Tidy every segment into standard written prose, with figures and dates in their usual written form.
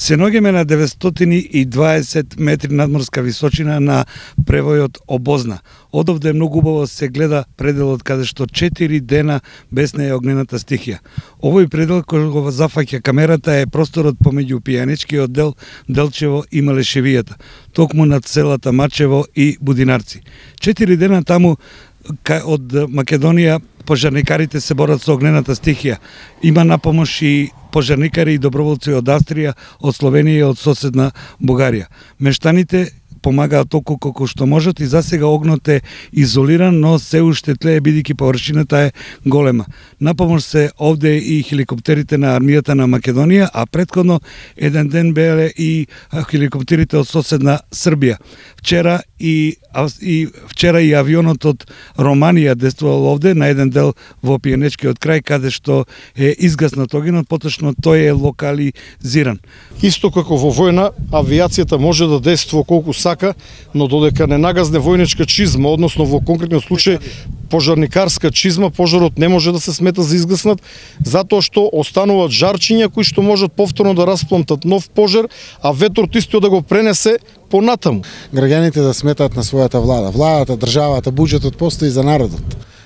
Се наоѓаме на 920 метри надморска височина на превојот Обозна. Одовде многу убаво се гледа пределот каде што 4 дена без неја огнената стихија. Овој предел кој го зафаќа камерата е просторот помеѓу Пијанечкиот дел, Делчево и Малешевијата, токму над селата Мачево и Будинарци. 4 дена таму од Македонија пожарникарите се борат со огнената стихија. Има на помош и пожарникари и доброволци од Австрија, од Словенија и од соседна Бугарија. Мештаните помагаат толку колку што можат и засега огнот е изолиран, но се уште тлее бидејќи површината е голема. На помош се овде и хеликоптерите на армијата на Македонија, а претходно еден ден беа и хеликоптерите од соседна Србија. Вчера и авионот од Романија действувал овде на еден дел во Пијанечкиот крај каде што е изгаснат огнот, поточно тој е локализиран. Исто како во војна, авијацијата може да действува колку сака, но додека не нагазне војничка чизма, односно во конкретниот случај пожарникарска чизма, пожарот не може да се смета за изгаснат, затоа што остануваат жарчиња кои што можат повторно да распламтат нов пожар, а ветрот исто да го пренесе понатаму. Граѓаните да сметаат на својата влада. Владата, државата, буџетот постои за народот.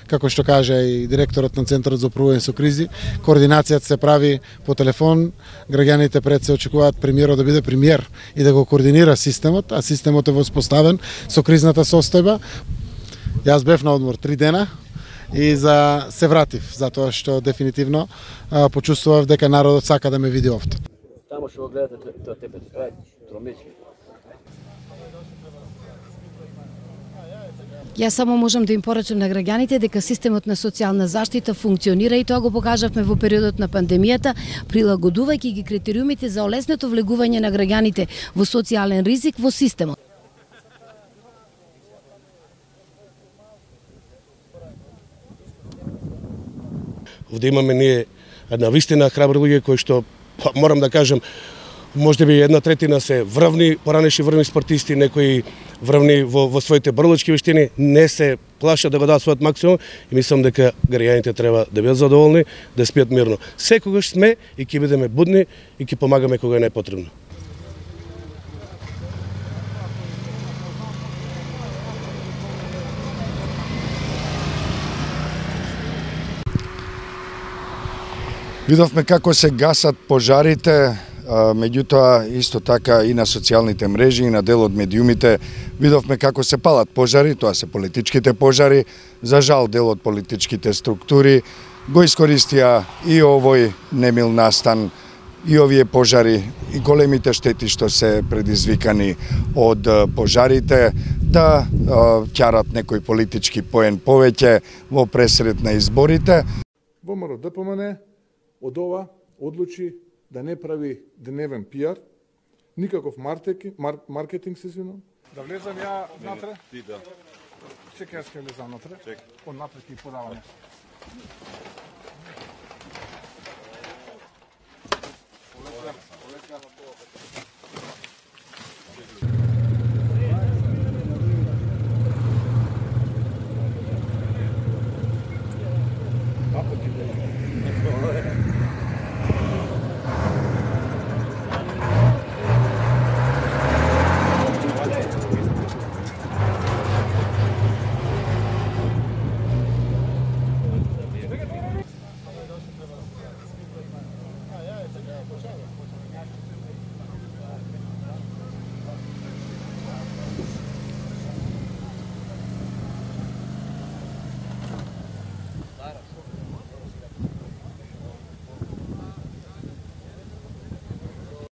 Како што кажа и директорот на Центарот за управување со кризи, координацијата се прави по телефон, граѓаните пред се очекуваат премиерот да биде премиер и да го координира системот, а системот е воспоставен со кризната состојба. Јас бев на одмор 3 дена и се вратив, затоа што дефинитивно почувствував дека народот сака да ме види овде. Тамо што го гледате тоа тебе, тромечки. Јас само можам да им порачам на граѓаните дека системот на социјална заштита функционира и тоа го покажавме во периодот на пандемијата, прилагодувајќи ги критериумите за олеснето влегување на граѓаните во социјален ризик во системот. Овде имаме ние една вистина храбри луѓе кои што, морам да кажам, можеби 1/3 се врвни, поранешни врвни спортисти, некои врвни во своите борлички вештини, не се плашат да го дадат својот максимум и мислам дека граѓаните треба да бидат задоволни, да спијат мирно. Секогаш сме и ќе бидеме будни и ќе помагаме кога е најпотребно. Видовме како се гасат пожарите, меѓутоа исто така и на социјалните мрежи и на дел од медиумите видовме како се палат пожари, тоа се политичките пожари. За жал дел од политичките структури го искористија и овој немил настан, и овие пожари, и големите штети што се предизвикани од пожарите, да ќарат некој политички поен повеќе во пресред на изборите. ВМРО ДПМН од ова одлучи да не прави дневен пиар, никаков маркетинг, се извинам. Да влезам ја натре? Ти да. Чекај, јас ќе влезам натре. Од натре ќе подавам јас. Олека.